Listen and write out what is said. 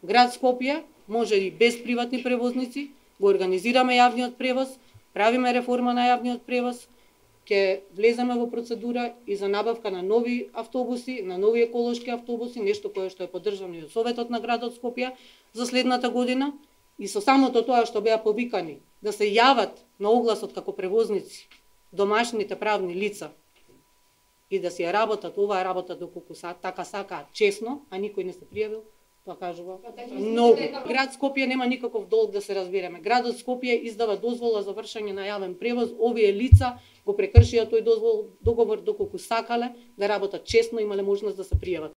Град Скопје може и без приватни превозници, го организираме јавниот превоз, правиме реформа на јавниот превоз, ќе влеземе во процедура и за набавка на нови автобуси, на нови еколошки автобуси, нешто кое што е поддржано и од Советот на градот Скопје за следната година. И со самото тоа што беа повикани да се јават на огласот како превозници домашните правни лица и да си ја работат оваа работа доколку така сакаат честно, а никој не се пријавил, тоа кажува многу. Град Скопје нема никаков долг, да се разбереме. Градот Скопје издава дозвола за вршење на јавен превоз. Овие лица го прекршија тој договор доколку сакале да работат честно, имале можност да се пријават.